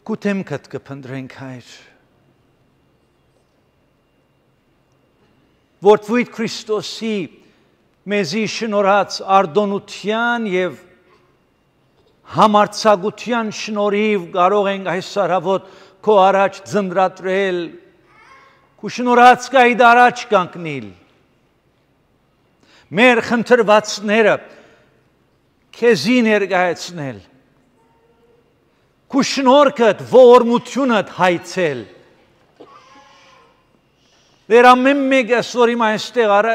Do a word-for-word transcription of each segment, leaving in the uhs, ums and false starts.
Կութեմքդ կփնտրենք հայր, որ Տվույթ Քրիստոսի մեզի շնորհած արտոնության եւ համարձակության շնորհիվ կարող ենք այս սարավոտ քո առաջ ձնրատրել, քո շնորհած կայդ առաջ կանգնել, մեր խնդրվածները քեզի ներկայացնել, քո շնորհքդ, ողորմությունդ հայցել, Դեր ամեն մեկը որ իմ այստեղ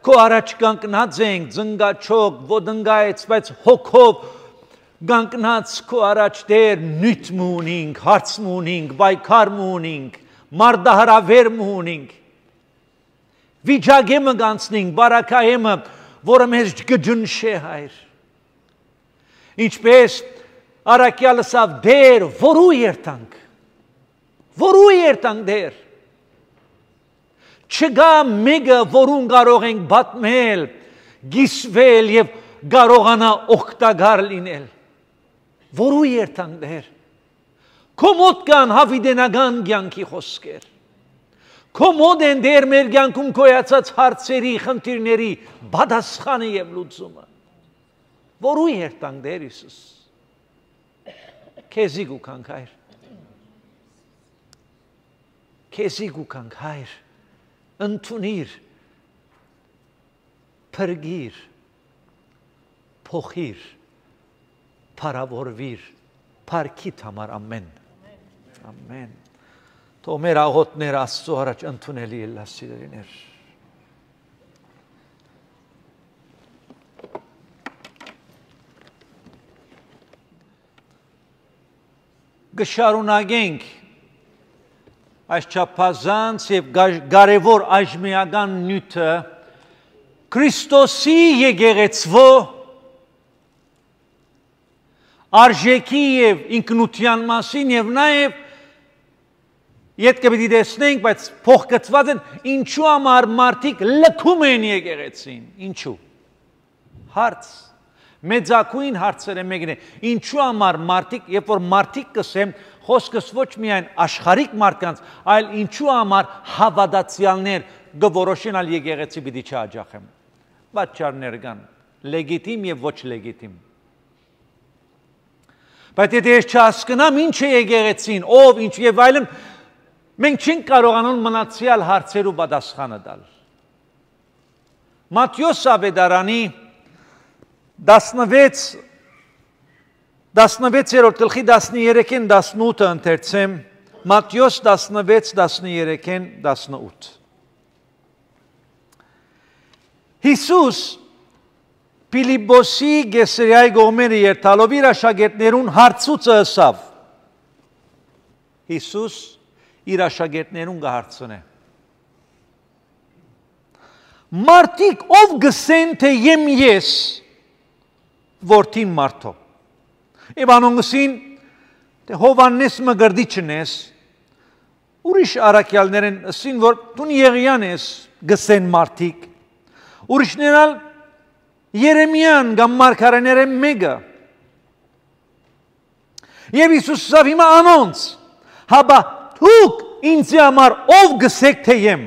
քո առաջ կանգնած ենք, ձնգաչոք, ոդնգայց, բայց հոգով կանգնած քո առաջ դեր նույթ մունինք, հարց մունինք, բայկար մունինք, մարդահրավեր մունինք, վիճակեմը գանցնինք, բարակայեմը, որը մեզ գջնշե հայր, ինչպես առակյալսավ դեր, որու երտանք, որու երտանք դեր, Չկա մեկը, որուն կարող ենք բատմել, գիսվել և կարողանա օգտակար լինել, որու երտանք դեր, քո մոտ կան հավիտենական կյանքի խոսքեր, քո մոտ են դեր մեր կյանքում գոյացած հարցերի, խնդիրների պատասխանը և լուծումը, որու երտանք դեր Հիսուս, քեզի գուքանք հայր, քեզի գուքանք հայր, ընդունիր, փրկիր, փոխիր, փառավորվիր, փառքիդ համար ամեն, ամեն, թող մեր աղոթները Աստծո առաջ ընդունելի ելլա սիրելիներ, գշարունակենք այս չափազանց և կարևոր այժմեական նյութը Քրիստոսի եկեղեցվո արժեքի և ինքնության մասին և նաև ետք պետք է տեսնենք, բայց փոխկցված են, ինչու համար մարդիկ լքում են եկեղեցին, ինչու, հարց, մեծակույն հարցերը մեկն է, ինչու համար մարդիկ, երբ որ մարդիկ կսեմ, խոսքս ոչ միայն աշխարհիկ մարդկանց, այլ ինչու համար հավատացյալներ գորոշեն ալ եկեղեցի պիտի չհաջախեմ, պատճառներ կան, լեգիտիմ և ոչ լեգիտիմ, բայց եթե ես չհասկնամ ինչ է եկեղեցին, ով, ինչ և այլն, մենք չենք կարողանում մնացյալ հարցերու պատասխանը տալ, Մատթեոս ավետարանի տասնվեցերորդ գլխի տասներեքին տասնութը ընթերցեմ, Մատթեոս տասնվեց տասներեքին տասնութ։ Հիսուս Փիլիպպոսի Կեսարիայի կողմերը երթալով իր աշակերտներուն հարցուցը ըսավ։ Հիսուս իր աշակերտներուն կհարցնե։ Մարդիկ ով գսեն, թե եմ ես որդին մարդո։ Եվ անոնգսին, թե Հովաննես մգրդիչն ես, ուրիշ առակյալներն ասին, որ տուն Եղիան ես, գսեն մարդիկ, ուրիշներալ Երեմիան կամ մարգարեները մեկը։ Եվ Հիսուս ասավ հիմա անոնց, հաբա դուք ինձի համար ով գսեք թե եմ։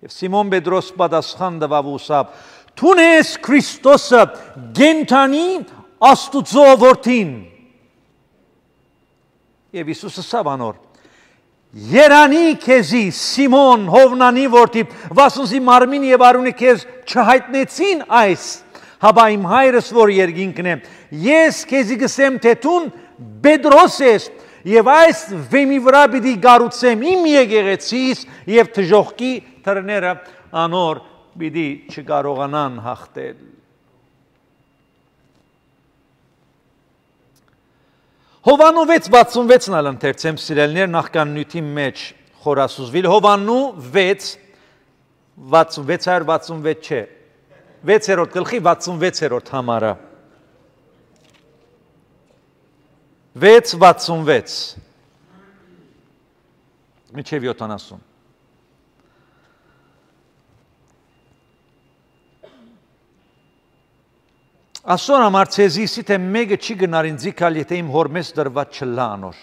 Եվ Սիմոն Պետրոս պատասխան տվավ ու ասավ, Տուն ես Քրիստոսը գենթանի Աստուծո որդին։ Եվ Հիսուս ասավ անոր, Երանի քեզի Սիմոն Հովնանի որդի, վասնզի մարմին եւ արունը քեզ չհայտնեցին այս, հաբա իմ հայրս որ երկինքն է, ես քեզի գսեմ թե տուն Պետրոս ես, եւ այս վեմի վրա պիտի գառուցեմ իմ եկեղեցիս եւ թժողքի թռները անոր պիտի չկարողանան հաղթել։ Հովաննու վեց վաթսունվեցն ալ ընթերցեմ սիրելիներ նախքան նյութի մեջ խորասուզվիլ, Հովաննու վեց վաթսունվեց հայր վաթսունվեց չէ, վեցերորդ գլխի վաթսունվեցերորդ համարը, վեց վաթսունվեց, միջև յոթանասուն։ Ասոր համար ցեզիսի թե մեկը չի գնար ինձ գալ, եթե իմ հորմես դրված չլա անոր։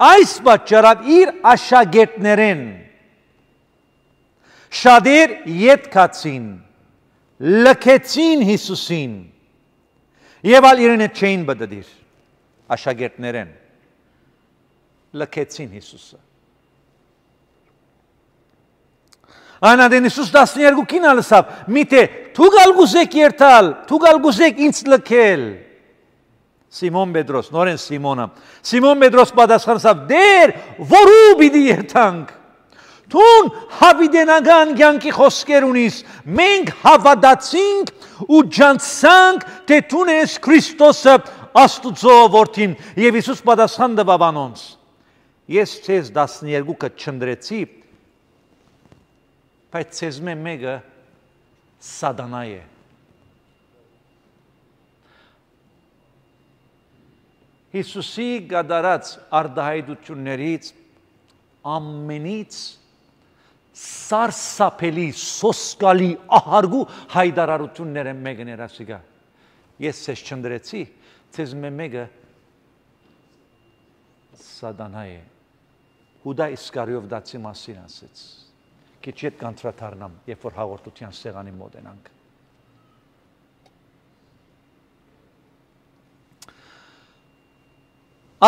Այս պատճառով իր աշակերտներեն շատեր ետքացին, լքեցին Հիսուսին եւ ալ իրեն չէին բդդիր, աշակերտներեն լքեցին Հիսուսը։ Անադեն Հիսուս տասներկուքին ալսավ, միթե թուգալ գուզեք երթալ, թուգալ գուզեք ինձ լքել։ Սիմոն Պետրոս, նորեն Սիմոնը, Սիմոն Պետրոս պատասխանեցավ, դեր, որու պիտի երթանք։ Թուն հավիտենական կյանքի խոսքեր ունիս, մենք հավատացինք ու ջանցանք, թե թուն ես Քրիստոսը Աստուծո որդին, եւ Հիսուս պատասխան տվավ անոնց։ Ես ցեզ տասներկուքը չնդրեցի, բայց ցեզ մեկը սատանա է։ Հիսուսի գադարած արդահայտություններից ամենից սարսափելի, սոսկալի, ահարգու հայտարարությունները մեկն էր ասիկա։ Ես ցեզ չնդրեցի, ցեզ մեկը սատանա է։ Հուդա Իսկարիով դացի մասին ասեց։ Քիչ հետ կանտրաթարնամ, երբ որ հաղորդության սեղանի մոտ ենք։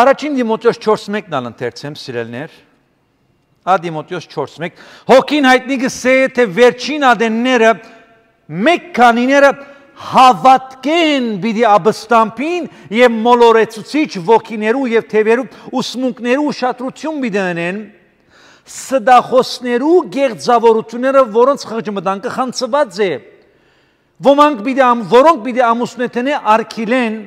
Առաջին Դիմոթեոս չորս մեկն ալ ընթերցեմ, սիրելներ։ Ա Դիմոթեոս չորս մեկ։ Հոգին հայտնի գսե թե վերջին ադենները մեկ քանիները հավատքեն պիտի աբստամփին եւ մոլորեցուցիչ ոգիներու եւ թևերու ուսմունքներու ուշադրություն պիտի ունեն սդախոսներու գեղձավորությունները, որոնց խղճմտանքը խանցված է, ոմանք պիտի որոնք պիտի ամուսնեթենե արքիլեն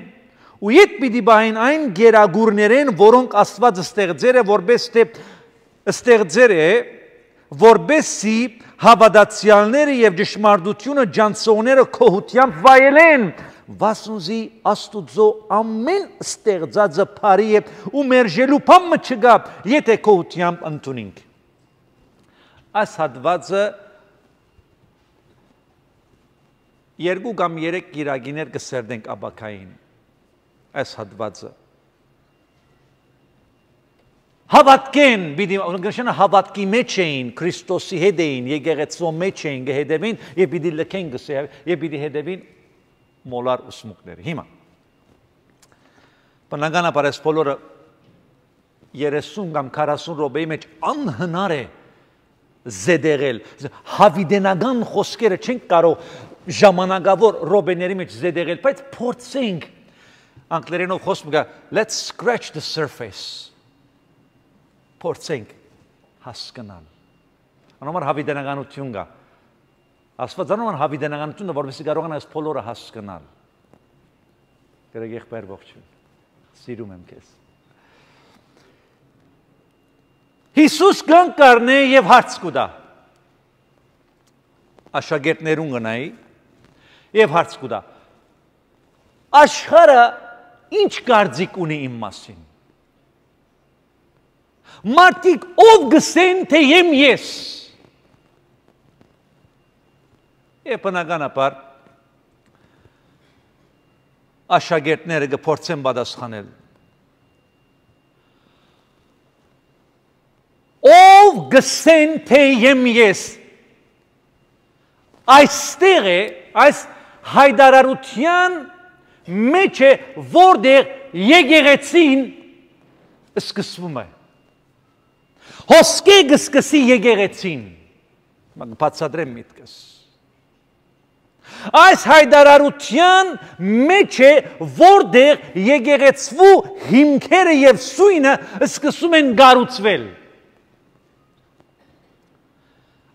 ու իդ պիտի բային այն գերագուրներեն, որոնք Աստված ստեղծեր է, որպես թե ստեղծեր է, որպեսզի հավատացյալները եւ ճշմարտությունը ջանցողները քոհությամբ վայելեն, վասնզի Աստուծո ամեն ստեղծածը բարի է ու մերժելու բան չկա, եթե քոհությամբ ընդունենք։ Այս հատվածը երկու կամ երեք գիրագիներ կսերդենք աբակային։ Այս հատվածը հավատքեն, գնշանը հավատքի մեջ էին, Քրիստոսի հետ էին, եկեղեցու մեջ էին, գհետևին, եւ պիտի լքեն գսե, եւ պիտի հետևին մոլար ուսմունքները։ Հիմա բնականաբար այս բոլորը երեսուն կամ քառասուն րոպեի մեջ անհնար է զեդեղել, հավիտենական խոսքերը չենք կարող ժամանակավոր րոպեների մեջ զեդեղել, բայց փորձենք անգլերենով խոսում կա, let's scratch the surface, փորձենք հասկանալ, անոմար հավիտենականություն կա, Աստված անոմար հավիտենականությունը, որովհետեւ կարող են այս բոլորը հասկանալ, գրեգ եղբայր ողջույն, սիրում եմ քեզ, Հիսուս կան կարնե և հարց կուտա, աշակերտներուն գնայի և հարց կուտա, աշխարհը ինչ կարծիք ունի իմ մասին, մարդիկ ով գսեն թե եմ ես, և բնականաբար աշակերտները կփորձեն պատասխանել, ով գսեն թե եմ ես, այստեղ է, այս հայտարարության մեջ է, որտեղ եկեղեցին սկսվում է, հոսքի կսկսի եկեղեցին, բացատրեմ միտքս, այս հայտարարության մեջ է, որտեղ եկեղեցու հիմքերը և սույնը սկսում են գառուցվել,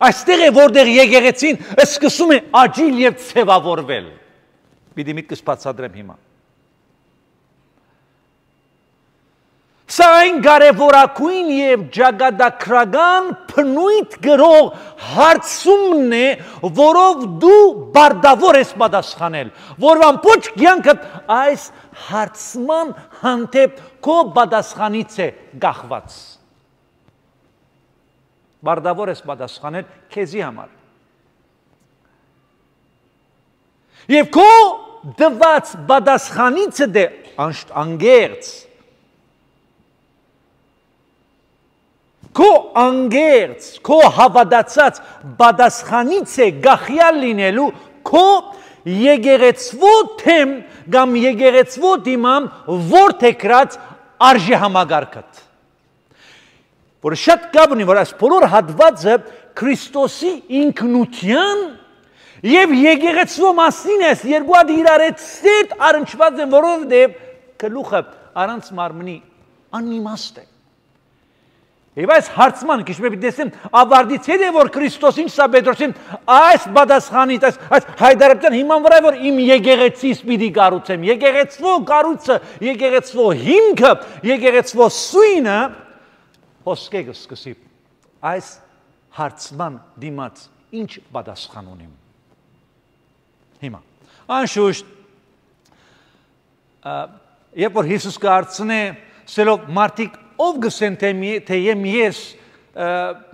այստեղ է, որտեղ եկեղեցին սկսում է աճիլ և ցևավորվել, պիտի միտքս բացատրեմ հիմա, սա այն կարևորագույն և ճակատագրական բնույթ գրող հարցումն է, որով դու բարդավոր ես պատասխանել, որ ամբողջ կյանքդ այս հարցման հանդեպ քո պատասխանից է կախված, բարդավոր ես պատասխանել քեզի համար, Եվ քո դված պատասխանից դե անգերց քո անգերց քո հավատացած պատասխանից է գախյալ լինելու քո եկեղեցվո թեմ կամ եկեղեցվո դիմամ որդեգրած արժե համագարկդ որ շատ կապ ունի որ այս բոլոր հատվածը Քրիստոսի ինքնության եւ եկեղեցվո մասին է երկու հատ իրար հետ սերտ առնչված են որովհետեւ գլուխը առանց մարմնի անիմաստ է Եվ այս հարցման քիչ մի տեսնեմ ավարտից հետ է որ Քրիստոս ինչ սա Պետրոսին այս պատասխանից այս այս հայդարարության հիման վրա որ իմ եկեղեցիս պիտի կառուցեմ եկեղեցվո կառույցը եկեղեցվո հիմքը եկեղեցվո սույնը հոսքեգը սկսի այս հարցման դիմաց ինչ պատասխան ունիմ հիմա անշուշտ երբ որ Հիսուս կհարցնե սելով մարդիկ ով գսեն թե եմ ես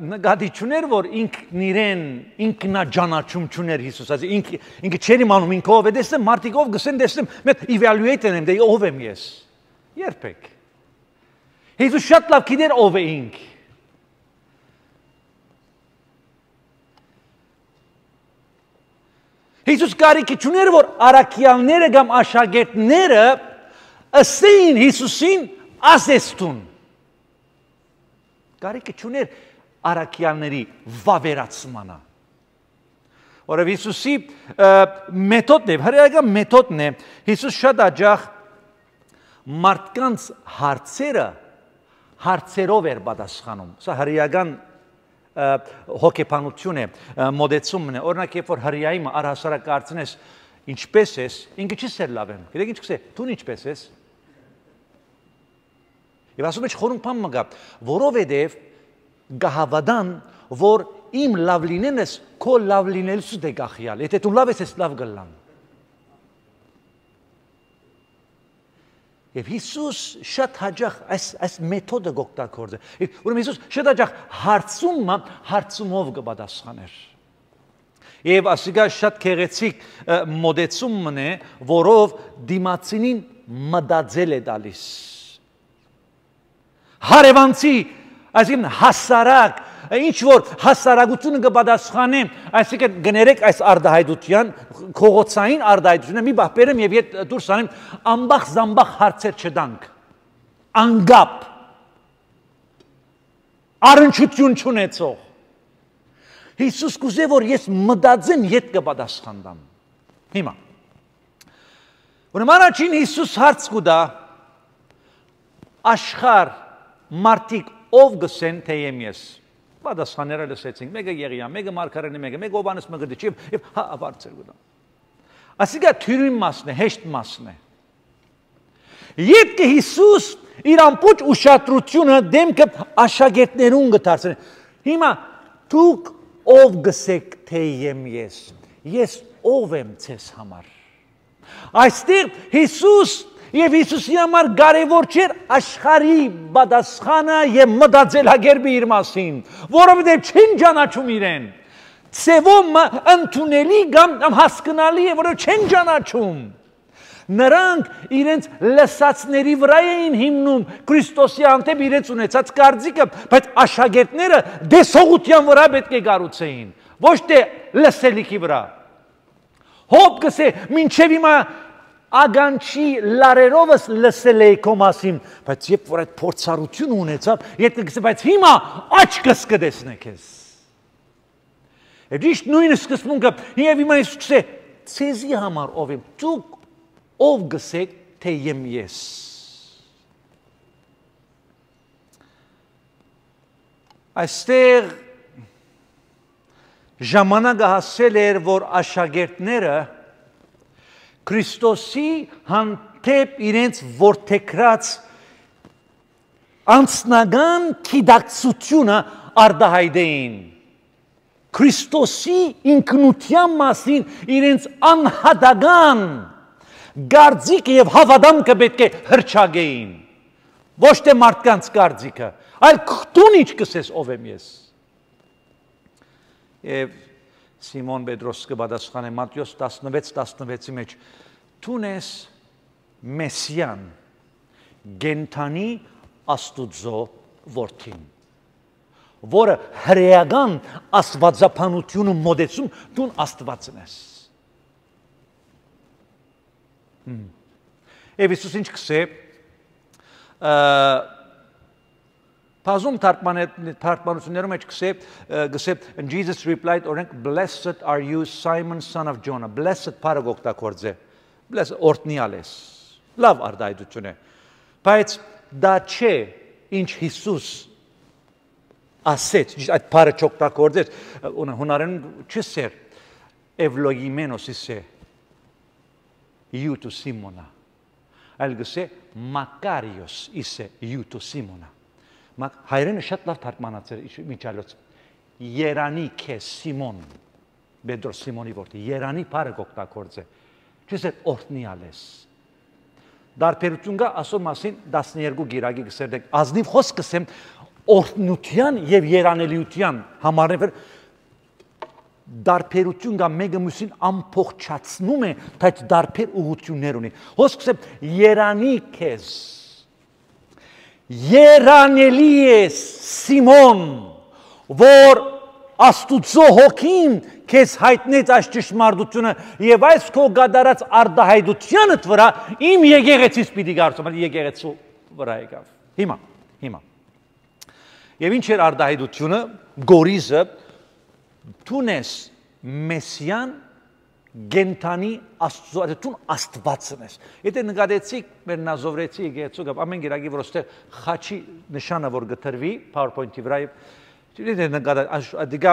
նկատի չուներ որ ինքն իրեն ինքնաջանաչում չուներ Հիսուս ասի ինքը չեր իմանում ինքը ով է տեսնեմ մարդիկ ով գսեն տեսնեմ մեծ evaluate եմ դե ով եմ ես երբեք Հիսուս շատ լավ գիտեր ով է ինք Հիսուս կարիք չուներ որ առաքյալները կամ աշակերտները ասեին Հիսուսին ասեստուն Կարիքը չուներ առաքյալների վավերացմանը։ Որով Հիսուսի մեթոդն է, հրեական մեթոդն է, Հիսուս շատ աջախ մարդկանց հարցերը հարցերով էր պատասխանում։ Սա հրեական հոգեբանություն է, մոդեցումն է։ Օրինակ, երբ որ հրեայի առհասարակ կարծես ինչպես ես, ինքը չի սեր լավ եմ։ Գիտեք ինչ կսե, դու ինչպես ես։ Եվ ասում է չխորում բան մգա, որովհետև գահավադան, որ իմ լավ լինեն ես, քո լավ լինելուց դե գախյալ, եթե դու լավ ես, ես լավ գլան։ Եվ Հիսուս շատ հաճախ այս մեթոդը գօգտագործե։ Ուրեմն Հիսուս շատ հաճախ հարցումը հարցումով կպատասխաներ։ Եվ ասիկա շատ գեղեցիկ մոդեցումն է, որով դիմացինին մտածել է տալիս։ Հարևանցի, այսինքն հասարակ, ինչ որ հասարակությունը կպատասխանի, այսինքն գներեք այս արդահայտության, քողոցային արդահայտությունը մի բախ բերեմ եւ ետ դուրս անեմ, ամբախ զամբախ հարցեր չտանք։ Անգապ։ Առնչություն չունեցող։ Հիսուս կուզե որ ես մտածեմ ետ կպատասխանեմ։ Հիմա։ Ուրեմն առաջին Հիսուս հարց կուտա աշխարհ մարդիկ ով գսեն թե եմ ես։ Պատասխանները լսեցինք, մեկը Եղիա, մեկը Մարգարենը, մեկը, մեկը Հովհաննես Մկրտիչը եւ հա բարձր գնա։ Ասիկա թյուրին մասն է, հեշտ մասն է։ Ետք Հիսուս իր ամբողջ ուշադրությունը դեմքը աշակերտներուն գտարցրել։ Հիմա դուք ով գսեք թե եմ ես։ Ես ով եմ ցես համար։ Այստեղ Հիսուս Եվ Հիսուսի համար կարևոր չէր աշխարհի պատասխանը եւ մտածելակերպը իր մասին, որովհետեւ չեն ճանաչում իրեն։ Ցևոմ ընդունելի կամ հասկանալի է, որով չեն ճանաչում։ Նրանք իրենց լսածների վրա էին հիմնում Քրիստոսի անտեպ իրենց ունեցած կարծիքը, բայց աշակերտները դեսողության վրա պետք է կառուցեին, ոչ թե լսելիքի վրա։ Հոբ գսե, մինչև հիմա Ագանչի լարերովս լսել էի քո մասին, բայց երբ որ այդ փորձառությունը ունեցավ, եթե գսե, բայց հիմա աչքս կտեսնեք ես։ Եվ ճիշտ նույնը սկզբունքը, եւ հիմա ես գսե, ցեզի համար ով եմ, դուք ով գսեք թե եմ ես։ Այստեղ ժամանակը հասել էր, որ աշակերտները Քրիստոսի հանդեպ իրենց որդեգրած անձնական գիտակցությունը արտահայտեին։ Քրիստոսի ինքնության մասին իրենց անհատական կարծիքը եւ հավատամքը պետք է հրճագեին։ Ոչ թե մարդկանց կարծիքը, այլ դու ինչ կսես ով եմ ես։ Եվ Սիմոն Պետրոս կպատասխանե Մատթեոս տասնվեց տասնվեցի մեջ դու ես Մեսիան գենթանի Աստուծո որդին որը հրեական աստվածաբանությունը մոդեցում դու Աստվածն ես Եվ Իսուս ինչ կսե Բազում թարգմանություններում մեջ կսե գսե and Jesus replied օրենք blessed are you Simon son of Jonah blessed բառը օգտագործե blessed օրհնյալ ես լավ արտահայտություն է բայց դա չէ ինչ Հիսուս ասեց այդ բառը չօգտագործեց հունարենում չսեր Էվլոգիմենոս իսե Իուտու Սիմոնա այլ գսե Մակարիոս իսե Իուտու Սիմոնա հայրենը շատ լավ թարգմանացել միջալոց Երանի քեզ Սիմոն Պետրոս Սիմոնի որդի Երանի բառը օգտագործե չսեր օրհնյալ ես Դարբերություն կա ասոր մասին տասներկու գիրակի գսերդեք ազնիվ խոսք կսեմ օրհնության եւ երանելիության համարներ դարբերություն կա մեկը մյուսին ամփոփչացնում է բայց դարբեր ուղղություններ ունի խոսք կսեմ երանի քեզ երանելի ես Սիմոն որ Աստուծո հոգին քեզ հայտնեց այս ճշմարտությունը եւ այս քո գադարած արտահայտությանդ վրա իմ եկեղեցիս պիտի գարցում, եկեղեցու վրա եկավ։ Հիմա, հիմա։ Եվ ինչ էր արտահայտությունը, գորիզը դու ես Մեսիան գենթանի Աստծո, դու Աստվածն ես։ Եթե նկատեցիք մեր նազովրեցի եկեղեցու գապ ամեն գիրակի որ ոստեղ խաչի նշանը որ գտրվի PowerPoint-ի վրա Չլինի նկատա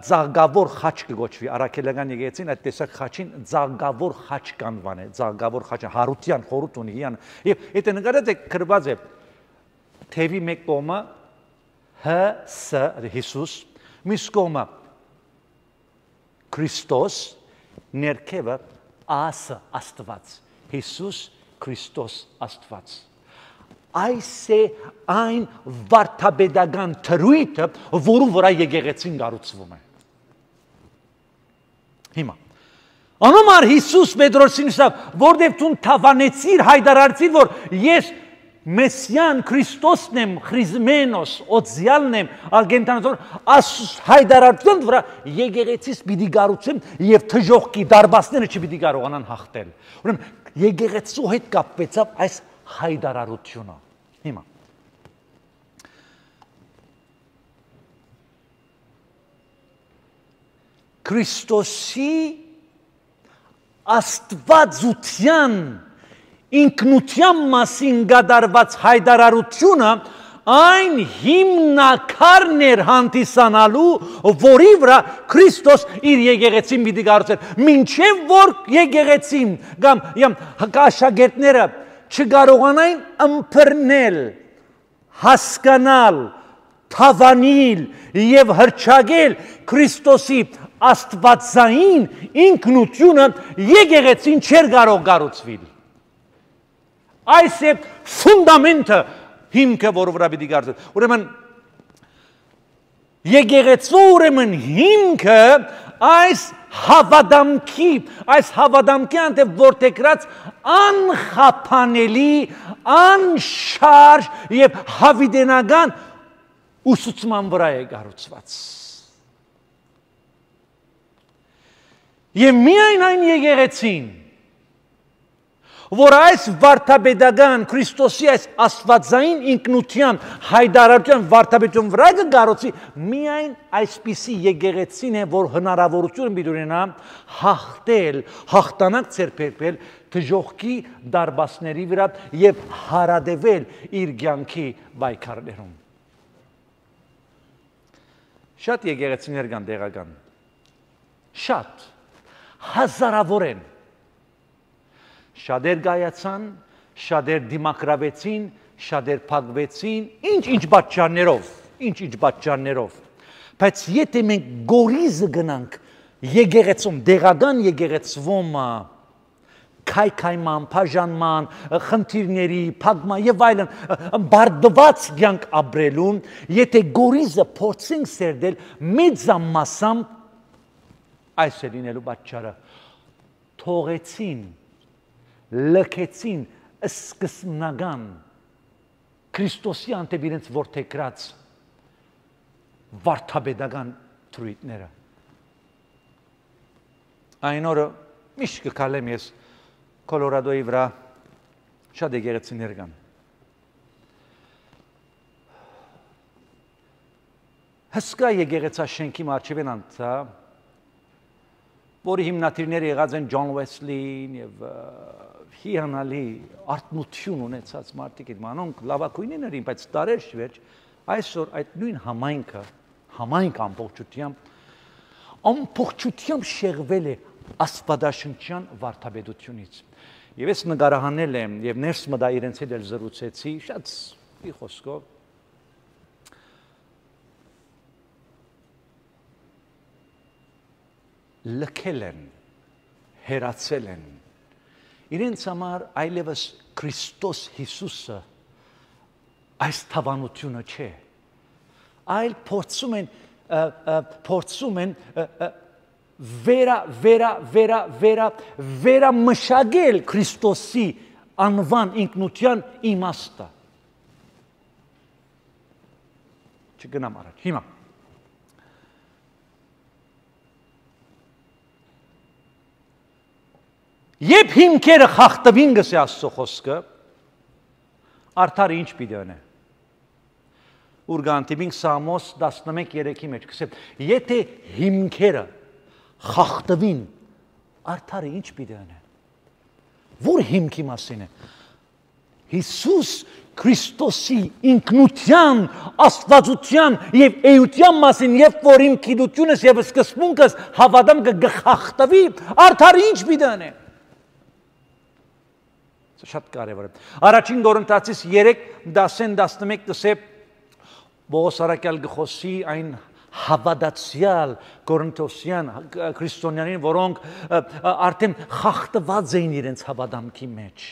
ձաղգավոր խաչ կգոչվի առաքելական եկեղեցին այդ տեսակ խաչին ձաղգավոր խաչ կանվան է ձաղգավոր խաչը հարության խորհուրդ ունի հիան եւ եթե նկատեք գրված է թևի մեկ կողմը Հ Ս Հիսուս մյուս կողմը Քրիստոս ներքևը Ա Ս Աստված Հիսուս Քրիստոս Աստված Այս է այն վարդապետական թրույթը, որու վրա եկեղեցին կառուցվում է։ Հիմա, անոմար Հիսուս Պետրոսին ասավ, որտեղ դու թավանեցիր, հայտարարեցիր, որ ես Մեսիան Քրիստոսն եմ, Խրիզմենոս, Օձյալն եմ, արգենտանոս, աս հայտարարության վրա եկեղեցիս պիտի կառուցեմ եւ թժողքի դարբասները չպիտի կարողանան հաղթել։ Ուրեմն եկեղեցու հետ կապվեցավ այս հայտարարությունը հիմա Քրիստոսի աստվածության ինքնության մասին գդարված հայտարարությունը այն հիմնակարն էր հանդիսանալու, որի վրա Քրիստոս իր եկեղեցին պիտի կառուցեր մինչև որ եկեղեցին կամ աշակերտները չկարողանային ըմբռնել, հասկանալ, թավանել եւ հռչակել Քրիստոսի աստվածային ինքնությունը եկեղեցին չէր կարող կառուցվել։ Այս է ֆունդամենտը հիմքը, որը վրա պիտի կառուցել։ Ուրեմն եկեղեցու ուրեմն հիմքը այս հավադամքի, այս հավադամքի անտև որտեգրած անխափանելի, անշարժ և հավիդենական ուսուցման վրա է կառուցված։ Եվ միայն այն եկեղեցին, որ այս վարդապետական Քրիստոսի այս աստվածային ինքնության հայտարարության վարդապետության վրա կկառուցի, միայն այսպիսի եկեղեցին է, որ հնարավորություն պիտի ունենա հաղթել, հաղթանակ ձեռբերել թժողքի դարբասների վրա եւ հարադեվել իր կյանքի պայքարներում։ Շատ եկեղեցիներ կան տեղական, շատ, հազարավոր են, շատեր գայացան, շատեր դիմակրավեցին, շատեր փակվեցին, ինչ-ինչ պատճառներով, ինչ-ինչ պատճառներով։ Բայց եթե մենք գորիզը գնանք եկեղեցում, դեղական եկեղեցվում քայքայման, բաժանման, խնդիրների, փակման եւ այլն, բարդված կյանք ապրելուն, եթե գորիզը փորձենք սերդել մեծամասամբ այս է լինելու պատճառը։ Թողեցին, լքեցին սկզբնական Քրիստոսի անտեպ իրենց որդեգրած վարդապետական թրույթները։ Այն օրը միշտ կքալեմ ես Կոլորադոյի վրա շատ եկեղեցիներ կան։ Հսկա եկեղեցաշենքի մարգարեն անցա, որի հիմնադիրները եղած են Ջոն Վեսլին եւ հիանալի արտնություն ունեցած մարդիկ են, մանոնք լավագույններ էին, բայց տարեր շվերջ այսօր այդ նույն համայնքը, համայնք ամբողջությամբ, ամբողջությամբ շեղվել է աստվածաշնչյան վարդապետությունից։ Եվ ես նկարահանել եմ եւ ներս մտա իրենց հետ էլ զրուցեցի, շատ մի խոսքով լքել են, հերացել են, իրենց համար այլևս Քրիստոս Հիսուսը այս թավանությունը չէ, այլ փորձում են, փորձում են վերա, վերա, վերա, վերա, վերա մշակել Քրիստոսի անվան ինքնության իմաստը։ Չգնամ առաջ, հիմա։ Երբ հիմքերը խախտվին գսե Աստծո խոսքը, արդարը ինչ պիտի անե։ Ուր գանտիբինք Սամոս տասնմեկ երեքի մեջ գսե, եթե հիմքերը խախտվին, արդարը ինչ պիտի անե։ Որ հիմքի մասին է։ Հիսուս Քրիստոսի ինքնության, աստվածության եւ էության մասին, երբ որ իմ գիտությունս եւ սկզբունքս հավատամ կխախտվի, արդարը ինչ պիտի անե։ Շատ կարևոր է։ Առաջին Կորինթացիս երեք դասեն տասնմեկ դսե Պողոս առաքյալ գխոսի այն հավատացյալ Կորինթոսյան քրիստոնյաներին, որոնք արդեն խախտված էին իրենց հավատամքի մեջ։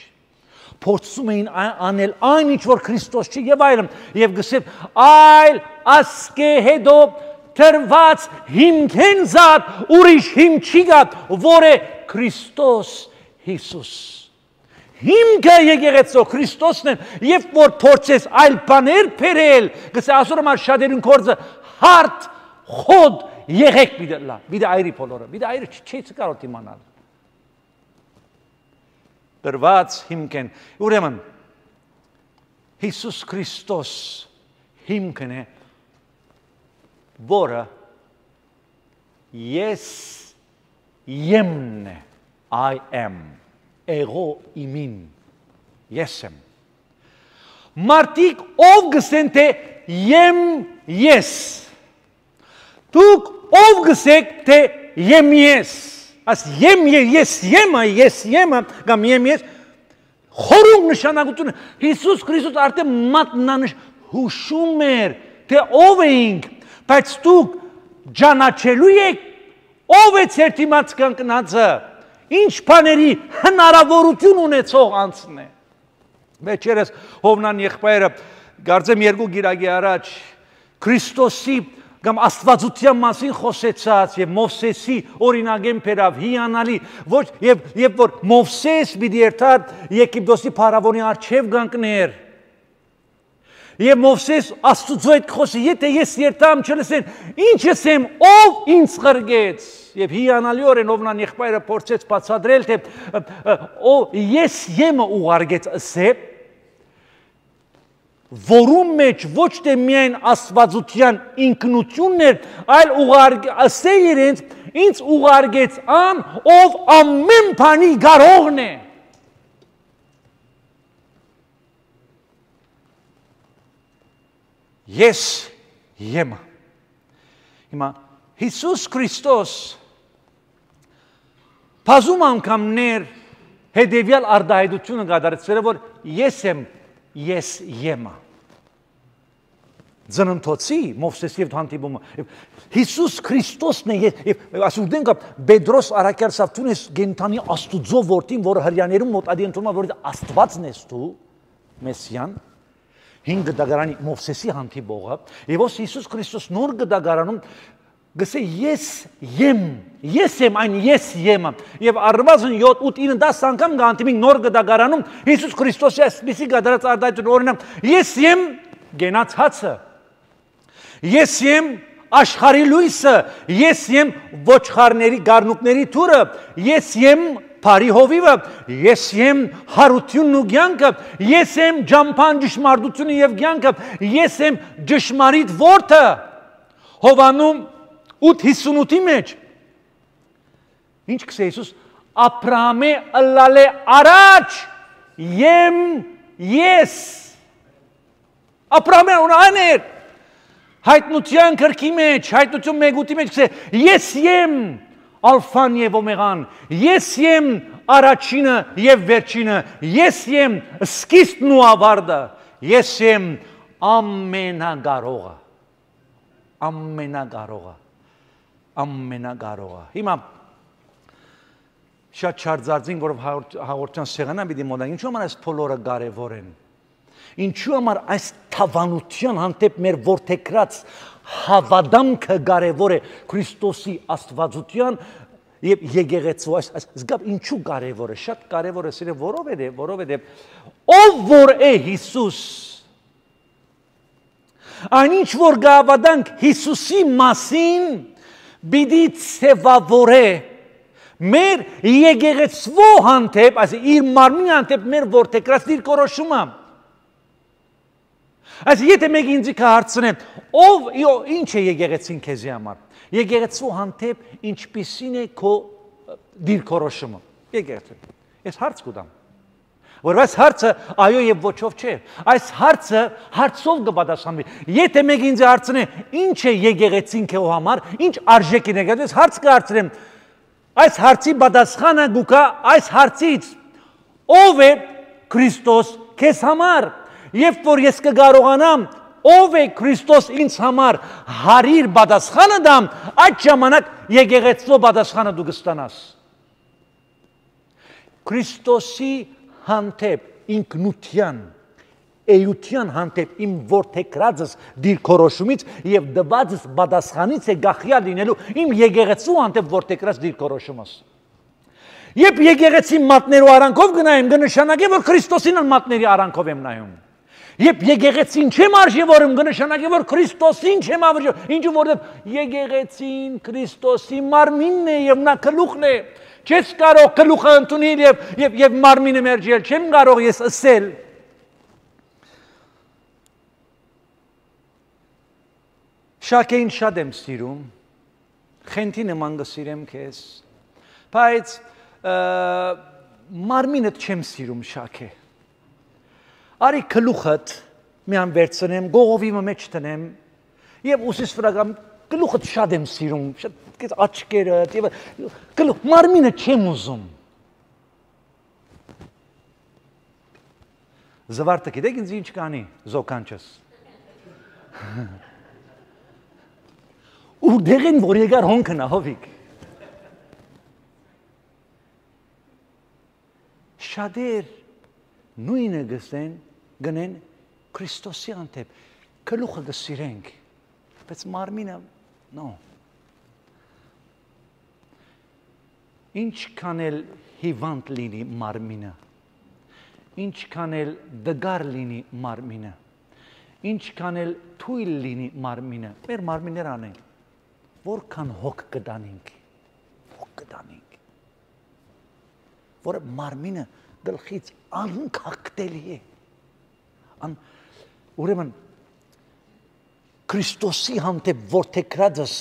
Փորձում էին անել այն ինչ որ Քրիստոս չի եւ այլն, եւ գսե այլ ասկե հետո թրված հիմքեն զատ ուրիշ հիմք չի գա, որ է Քրիստոս Հիսուս։ Հիմքը եկեղեցու Քրիստոսն է, եւ որ փորձես այլ բաներ բերել, գսե ասում եմ շատերին կորձը հարթ, խոդ, եղեք պիտի լա, պիտի այրի բոլորը, պիտի այրի չի կարող իմանալ։ Դրված հիմքեն, ուրեմն Հիսուս Քրիստոս հիմքն է, որը ես եմն է, I am, ego imin, ես եմ։ Մարդիկ ով գսեն թե եմ ես, դուք ով գսեք թե եմ ես, աս եմ ես եմը, ես եմը, կամ եմ ես, խորում նշանակությունը, Հիսուս Քրիստոս արդեն մատնանշ հուշում էր, թե ով էինք, բայց դուք ճանաչելու եք, ով է ձեր դիմաց կանգնածը, ինչ բաների հնարավորություն ունեցող անձն է։ Վերջերս Հովնան եղբայրը կարծեմ երկու գիրակի առաջ Քրիստոսի կամ աստվածության մասին խոսեցած եւ Մովսեսի օրինագեն բերավ հիանալի, ոչ եւ եւ որ Մովսես պիտի երթար Եգիպտոսի փարավոնի առջև կանգներ։ Եվ Մովսես Աստծո հետ խոսի, եթե ես երթամ չլսեն, ինչ ասեմ, ով ինձ խրգեց։ Եվ հիանալիորեն Հովնան եղբայրը փորձեց բացատրել, թե ես եմը ուղարկեց ասե, որում մեջ ոչ թե միայն աստվածության ինքնությունն էր, այլ ասե իրենց, ինձ ուղարկեց ան, ով ամեն բանի կարողն է։ Ես եմը։ Հիմա Հիսուս Քրիստոս բազում անգամներ հետևյալ արտահայտությունը կատարեցրել է, որ ես եմ, ես եմը։ Ծննդոցի Մովսեսի հետ հանդիպումը Հիսուս Քրիստոսն է, եւ ասում ենք Պետրոս առաքյալ Սավթունես գենթանի Աստուծո որդին, որը հрьяաներում մոտ ադիենտում որ Աստվածն ես դու, Մեսիան, հինգ դագարանի Մովսեսի հանդիպողը, եւ ոս Հիսուս Քրիստոս նոր դագարանում գսե ես եմ, ես եմ այն ես եմը, և առվազն յոթ ութ ինը դաս անգամ գանտիմին նոր գդագարանում Հիսուս Քրիստոսի այսպիսի գադարած արդայություն օրինամ, ես եմ գենաց հացը, ես եմ աշխարհի լույսը, ես եմ ոչխարների գառնուկների թուրը, ես եմ Փարի հովիվը, ես եմ հարությունն ու կյանքը, ես եմ ջամփան ճշմարտությունը և կյանքը, ես եմ ճշմարիտ որդը, Հովաննում ութ հիսունութի մեջ, ինչ կսե Հիսուս, Աբրահամի ըլլալ է առաջ, եմ ես, Աբրահամի ունան էր, հայտնության կրքի մեջ, հայտնություն մեգուտի մեջ կսե, ես եմ, Ալֆան և Օմեգան, ես եմ առաջինը և վերջինը, ես եմ սկիզբն ու ավարտը, ես եմ ամենագարողը, ամենագարողը, ամենագարողը։ Հիմա շատ չարձածին, որ հաղորդյան սեղանան պիտի մոտենք, ինչու համար այս բոլորը կարևոր են, ինչու համար այս թավանության հանդեպ մեր որդեգրած հավատամքը կարևոր է Քրիստոսի աստվածության և եկեղեցու այս զգապ ինչու կարևոր է, շատ կարևոր է սիրել, որովհետև, որովհետև ով որ է Հիսուս, այնինչ որ գավադանք Հիսուսի մասին պիտի ցևավորե մեր եկեղեցու հանդեպ, այս իր մարմնի հանդեպ մեր որդեգրած դիրքորոշումը։ Այս եթե մեկ ինձ կհարցնեմ, ով ինչ է եկեղեցին քեզի համար, եկեղեցու հանդեպ ինչպիսին է քո դիրքորոշումը, եկեղեցու, ես հարց կուտամ, որ այս հարցը այո և ոչով չէ, այս հարցը հարցով կպատասխանվի, եթե մեկ ինձ հարցնեմ, ինչ է եկեղեցին քո համար, ինչ արժեք է եկեղեցու, ես հարց կհարցնեմ, այս հարցի պատասխանը գուկա այս հարցից, ով է Քրիստոս քեզ համար, Եվ որ ես կգարողանամ, ով է Քրիստոս ինձ համար հարիր պատասխանը դամ, այդ ժամանակ եկեղեցու պատասխանը դու կստանաս։ Քրիստոսի հանդեպ ինքնության, էության հանդեպ իմ որդեգրածս դիրքորոշումից և դվածս պատասխանից է գախյալ լինելու իմ եկեղեցու հանդեպ որդեգրած դիրքորոշումս։ Երբ եկեղեցի մատներու արանքով գնայեմ, կնշանակի, որ Քրիստոսին մատների արանքով եմ նայում։ Երբ եկեղեցին չեմ արժևորում, կնշանակի, որ Քրիստոսին չեմ արժևորում, ինչու որովհետև եկեղեցին Քրիստոսի մարմինն է և նա գլուխն է։ Չես կարող գլուխը ընդունել և, և, և մարմինը մերժել, չեմ կարող ես ասել։ Շաքեին շատ եմ սիրում, խենթի նման կսիրեմ քեզ, բայց մարմինդ չեմ սիրում շաքե։ Արի գլուխդ միան վերցնեմ, գողովիմը մեջ տնեմ և ուսիս վրա գամ գլուխդ շատ եմ սիրում, շատ աչքերդ և գլուխ, մարմինը չեմ ուզում։ Զվարդը գիտեք ինձ ինչ կանի, զոկանչս։ Ու դեղին, որ եկար հոնքն ահովիկ։ Շատեր նույնը գսեն, գնեն Քրիստոսի հանդեպ, գլուխը կսիրենք, բայց մարմինը, նո։ Ինչքան էլ հիվանդ լինի մարմինը, ինչքան էլ դգար լինի մարմինը, ինչքան էլ թույլ լինի մարմինը, մեր մարմիններ անենք, որքան հոգ կդանենք, հոգ կդանենք, որը մարմինը գլխից անքակտելի է, ուրեմն Քրիստոսի հանդեպ որդեգրածս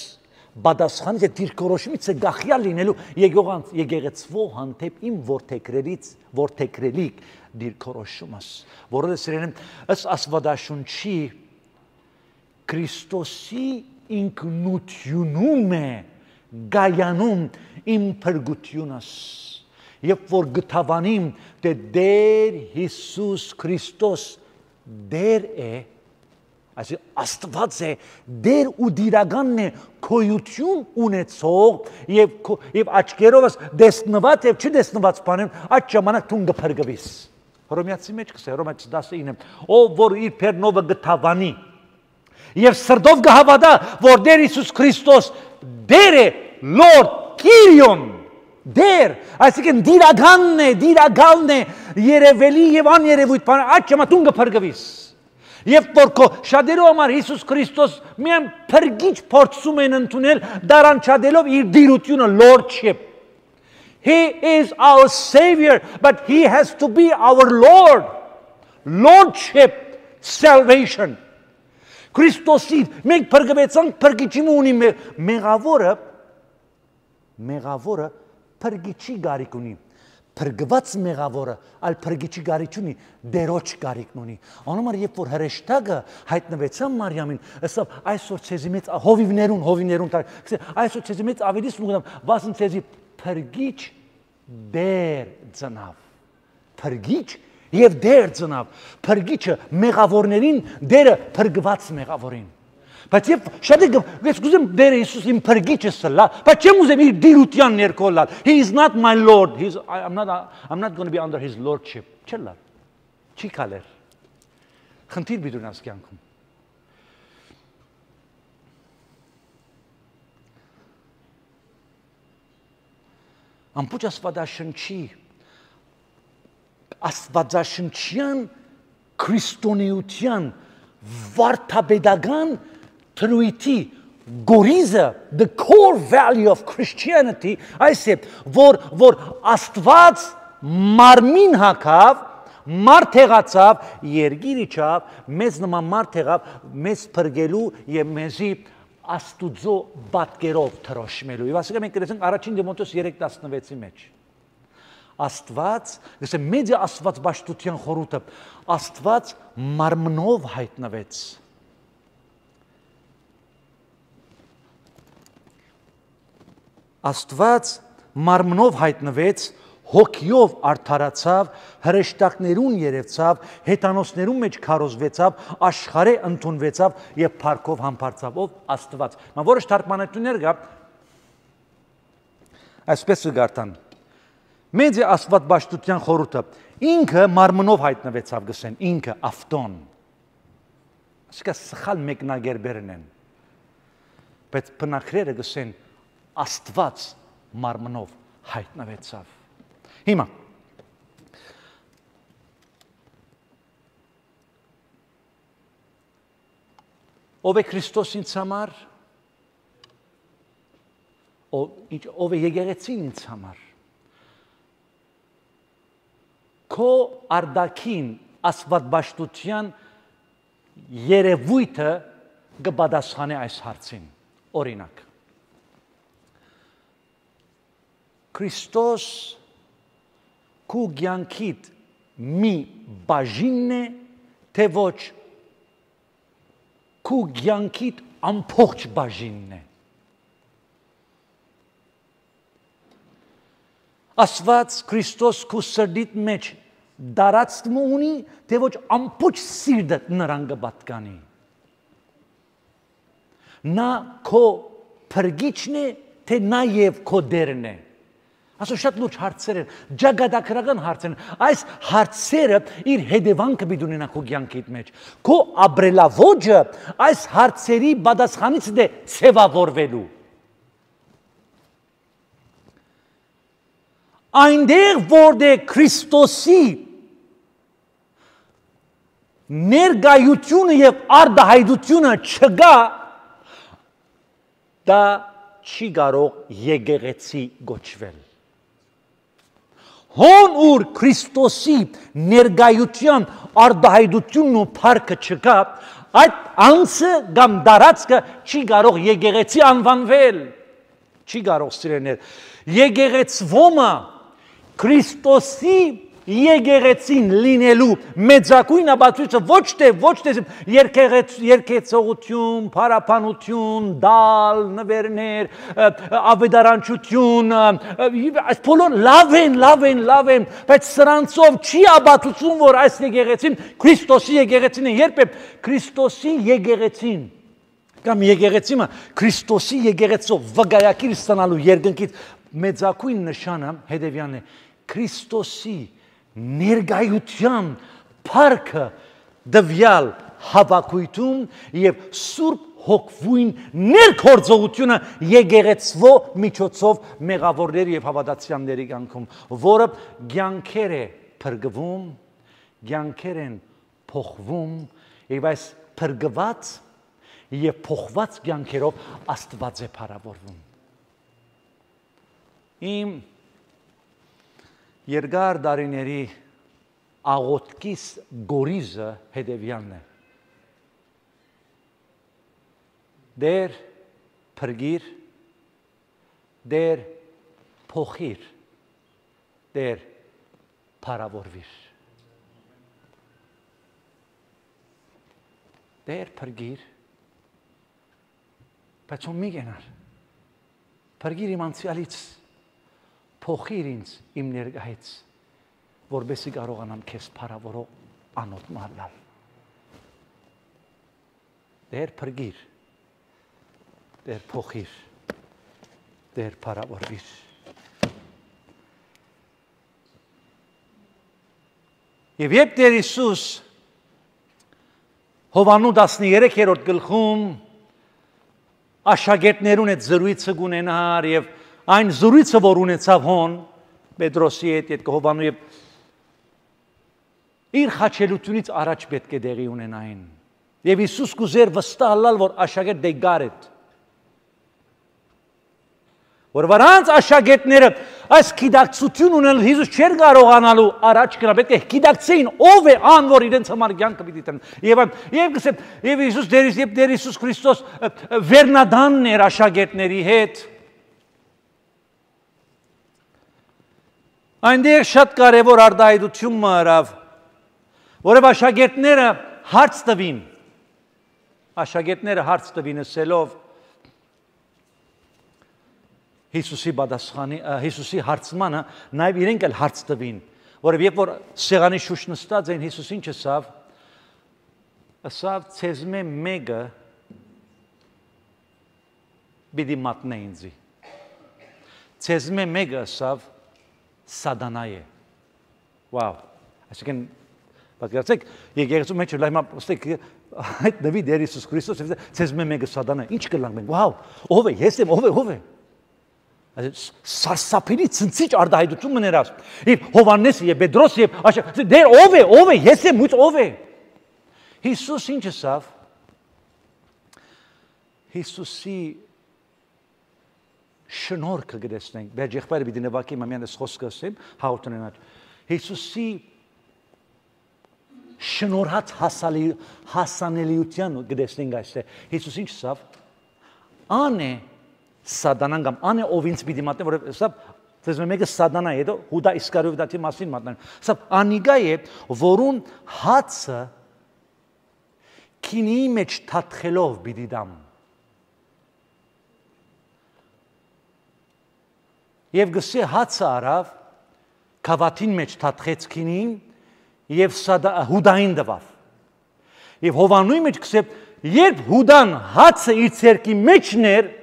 պատասխանից է դիրքորոշումից է գախյալ լինելու եկեղեցու հանդեպ իմ որդեգրելից որդեգրելիք դիրքորոշումս, որը սիրելիմ ըստ Աստվածաշունչի Քրիստոսի ինքնությունում է գայանում իմ փրկությունս, երբ որ գտավանիմ թե Տեր Հիսուս Քրիստոս Դեր է, այսինքն Աստված է, Դեր ու դիրականն է քոյություն ունեցող եւ եւ աչքերովս դեսնված եւ չդեսնված բաներ, այդ ժամանակ դու կփրկվես։ Հռոմեացի մեջ կսե, Հռոմեացի տասնինը, ով որ իր փերնովը գտավանի եւ սրտով կհավատա, որ Տեր Հիսուս Քրիստոս դեր է Lord Kyrion դեր այսինքն դիրագանն է դիրագալն է երևելի եւ աներևույթ բան այդ ժամանակ կփրկվիս եւ որ քո շատերու համար Հիսուս Քրիստոս միայն փրկիչ փորձում են ընդունել դարանչադելով իր դիրությունը Lordship He is our Savior but he has to be our Lord Lordship salvation Քրիստոսի մենք փրկվեցանք փրկիչի ունի մեղավորը մեղավորը փրկիչի գարիք ունի փրկված մեղավորը այլ փրկիչի գարիք ունի դերոջ գարիքն ունի անոմար երբ որ հրեշտակը հայտնվեցան Մարիամին ասավ այսօր ցեզի մեծ հովիվներուն հովիվներուն այսօր ցեզի մեծ ավելի սնուգամ վասն ցեզի փրկիչ դեր ծնավ փրկիչ եւ դեր ծնավ փրկիչը մեղավորներին դերը փրկված մեղավորին բայց երբ շատ ես գուզեմ դերը Հիսուս իմ փրկիչս լա բայց չեմ ուզեմ իր դիրության ներքո լալ He is not my Lord He's I'm not I'm not going to be under his lordship չլա չի կալեր խնդիր բիդունաս կյանքում ամբողջ աստվածաշնչի աստվածաշնչյան քրիստոնեության վարդապետական թրույթի գորիզը the core value of Christianity այս է որ որ աստված մարմին հագավ մարդ եղածավ երգիր իջավ մեզ նման մարդ եղավ մեզ փրկելու եւ մեզի աստուծո բատկերով թրոշմելու եւ ասենք մենք գրեցինք առաջին Տիմոթեոս երեք տասնվեցի մեջ Աստված, գսե մեծ Աստված բաշխության խորհուրդը, Աստված մարմնով հայտնվեց։ Աստված մարմնով հայտնվեց, հոգիով արդարացավ, հրեշտակներուն երևցավ, հետանոսներուն մեջ քարոզվեցավ, աշխարհե ընդունվեցավ եւ փառքով համբարձավ ով Աստված։ Մա որոշ թարգմանություններ կա այսպես գարտան Մեծ է աստված բաշխության խորհուրդը ինքը մարմնով հայտնվեցավ գսեն ինքը ավտոն ասկա սխալ մեկնագերբերն են բայց բնակրերը գսեն աստված մարմնով հայտնվեցավ հիմա ով է Քրիստոս ինձ համար ով է եկեղեցին ինձ համար Քո արդակին աստվածբաշխության երևույթը կպատասխանի այս հարցին օրինակ Քրիստոս քո կյանքիդ մի բաժինն է թե ոչ քո կյանքիդ ամբողջ բաժինն է Աստված Քրիստոս քո սրտիդ մեջ դարածում ունի, թե ոչ ամբողջ սիրտդ նրան կպատկանի։ Նա քո փրկիչն է, թե նաև քո դերն է։ Ասո շատ լուրջ հարցեր են, ջագադակրական հարցեր են։ Այս հարցերը իր հետևանքը պիտի ունենա քո կյանքիդ մեջ։ Քո ապրելավոճը այս հարցերի պատասխանից է ցևավորվելու։ Այնտեղ որտեղ Քրիստոսի ներկայությունը եւ արդահայտությունը չկա, դա չի կարող եկեղեցի գոչվել։ Հոն ուր Քրիստոսի ներկայության արդահայտությունն ու փառքը չկա, այդ անձը կամ դարածքը չի կարող եկեղեցի անվանվել։ Չի կարող սիրելիներ։ Եկեղեցվոմը Քրիստոսի եկեղեցին լինելու մեծակույն ապացույցը ոչ թե ոչ թե երկեցողություն, փարապանություն, դալ, նվերներ, ավետարանչություն, այս բոլոր լավ են, լավ են, լավ են, բայց սրանցով չի ապացուցում, որ այս եկեղեցին Քրիստոսի եկեղեցին է, երբ է Քրիստոսի եկեղեցին կամ եկեղեցիմը Քրիստոսի եկեղեցով վկայակիր ստանալու երկնքից մեծակույն նշանը հետևյալն է Քրիստոսի ներկայության փառքը դվյալ հավաքույթում եւ Սուրբ հոգվույն ներքործողությունը եկեղեցվո միջոցով մեղավորների եւ հավատացյալների կյանքում, որը կյանքեր է փրկվում, կյանքեր են փոխվում եւ այս փրկված եւ փոխված կյանքերով Աստված է փառավորվում։ Իմ երկար դարիների աղոթքիս գորիզը հետևյալն է. Դեր փրկիր, դեր փոխիր, դեր փառավորվիր։ Դեր փրկիր, բայց ո՞ւմ մի գնար։ Փրկիր իմ անցյալից, փոխիր ինձ իմ ներկայից, որբեսի կարողանամ քեզ փառավորող անոթ մահլալ։ Դեր փրկիր, դեր փոխիր, դեր փառավորվիր։ Եվ երբ Տեր Հիսուս Հովանու տասներեքերորդ գլխում աշակերտներուն հետ զրույցը կունենար եւ այն զրույցը, որ ունեցավ հոն Պետրոսի հետ, այդ Հովանու եւ իր խաչելությունից առաջ պետք է դեղի ունենային։ Եվ Հիսուս կուզեր վստահ լալ, որ աշակերտ դե գար է։ Որ վրանց աշակերտները այս գիտակցություն ունեն, Հիսուս չէր կարողանալու առաջ գնալ, պետք է գիտակցեին ով է ան, որ իրենց համար կյանքը պիտի տան։ Եվ եւ գսեմ, եւ Հիսուս դերից եւ Տեր Հիսուս Քրիստոս վերնադանն էր աշակերտների հետ։ Այնտեղ շատ կարևոր արտահայտություն մարավ, որով աշակերտները հարց տվին, աշակերտները հարց տվին ասելով Հիսուսի պատասխանի, Հիսուսի հարցմանը նաև իրենք էլ հարց տվին, որով երբ որ սեղանի շուշ նստած էին, Հիսուս ինչ ասավ, ասավ ցեզմե մեկը պիտի մատնե ինձի, ցեզմե մեկը ասավ սատանա է, վավ, այսինքն պատկերացեք, եկեղեցու մեջ լայմա ստեք այդ նվի Տեր Հիսուս Քրիստոս ցեզմե մեկը սատանա, ինչ կլանք մենք, վավ, ով է, ես եմ, ով է, ով է Սարսափելի ցնցիչ արտահայտություն մներած։ Եվ Հովաննես եւ Պետրոս եւ դեր ով է, ով է, ես եմ, ո՞վ է։ Հիսուս ինչ ասավ։ Հիսուսի շնորհքը գտեսնենք։ Բայց եղբայրը պիտի նվագի մամյանս խոսքը ասեմ, հաղորդանալ։ Հիսուսի շնորհած հասալի հասանելիության գտեսնենք այստեղ։ Հիսուս ինչ ասավ։ Անե Սատանան կամ ան է ով ինձ պիտի մատնե, որով սա դες մեկը սատանա է, Հուդա Իսկարիովտի մասին մատնան։ Սա անիգա է, որուն հացը քինի մեջ թաթխելով պիտի դամ։ Եվ գսե հացը արավ, կավաթին մեջ թաթխեց քինին եւ Հուդային դվավ։ Եվ Հովանուի մեջ գսե, երբ Հուդան հացը իր ցերկի մեջն էր,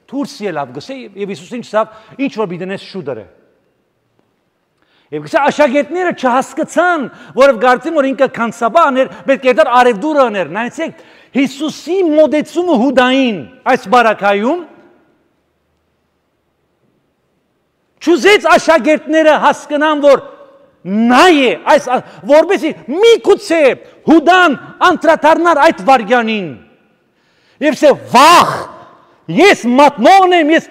Թուրս ելավ գսե եւ Հիսուս ինչ ասավ, ինչ որ բիդենես շուդերը։ Եվ գսե աշակերտները չհասկացան, որով կարծին որ ինքը քանսաբան էր, պետք է դար արևդուրն էր։ Նայեցեք, Հիսուսի մոդեցումը Հուդային այս բարակայում չուզեց աշակերտները հասկանան, որ նա է, այս որբեսի միգուցե Հուդան անդրադառնար այդ վարյանին։ Եվ սե վախ Ես մատնողն եմ, ես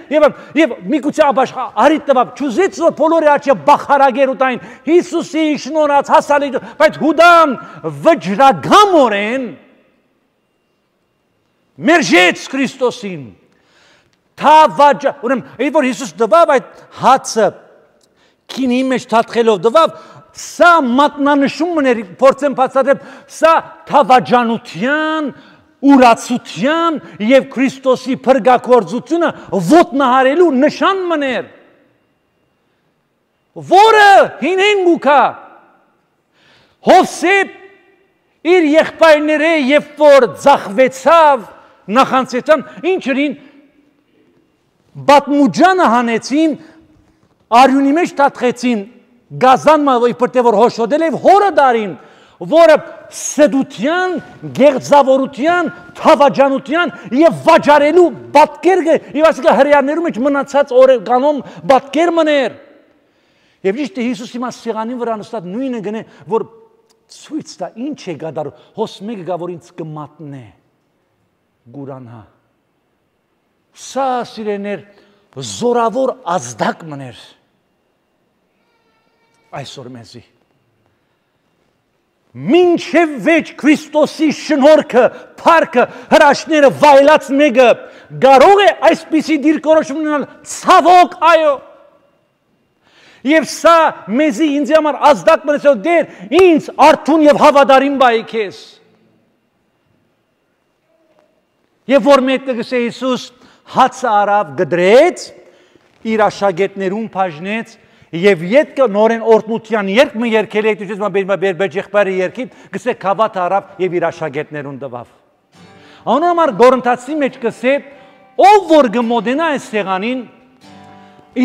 եւ միգուցե աբաշխ արիտ տվավ, չուզեց որ բոլորի աչքը բախարագեր ուտային, Հիսուսի շնորհած հասալի, բայց Հուդան վճռագամորեն մերժեց Քրիստոսին։ Թավաճ, ուրեմն, այդ որ Հիսուս դվավ այդ հացը քինի մեջ թաթխելով դվավ, սա մատնանշումն էր, փորձեմ բացատրել, սա թավաճանության ուրացության եւ Քրիստոսի փրկակորձությունը ոտնահարելու նշան մներ, որը հինեն գուքա Հովսեփ իր եղբայրները երբ որ ձախվեցավ նախանցեցան ինչերին բատմուջանը հանեցին արյունի մեջ թաթխեցին գազան մավոյ պրտե որ հոշոդել եւ հորը դարին որը սդության, գեղձավորության, թավաջանության եւ վաճառելու պատկեր կը, եւ ասիկա հрьяաներու մեջ մնացած օրեգանում պատկեր մներ։ Եվ ճիշտ է Հիսուս հիմա սեղանի վրա նստած նույնը գնե, որ ցույց տա ինչ է գադարում, հոս մեկը գա որ ինձ կմատնե, գուրանա։ Սա սիրեներ զորավոր ազդակ մներ այսօր մեզի։ Մինչև վեճ Քրիստոսի շնորհքը, փառքը, հրաշքները վայելած մեկը կարող է այսպիսի դիրքորոշում ունենալ, ցավոք, այո։ Եվ սա մեզի ինձ համար ազդակ մնաց, որ դեր ինձ արթուն եւ հավատարիմ բայ քեզ։ Եվ որ մեկը գսե Հիսուս հացը արավ գդրեց, իր աշակերտներուն բաժնեց եւ յետքը նորեն օրտնության երկ մը երկել եք դուք մա բեր եղբայրը երկին գսե քավաթ արավ եւ իր աշակերտներուն տվավ։ Անոնամար գորընթացի մեջ գսե ով որ գմոդենա այս սեղանին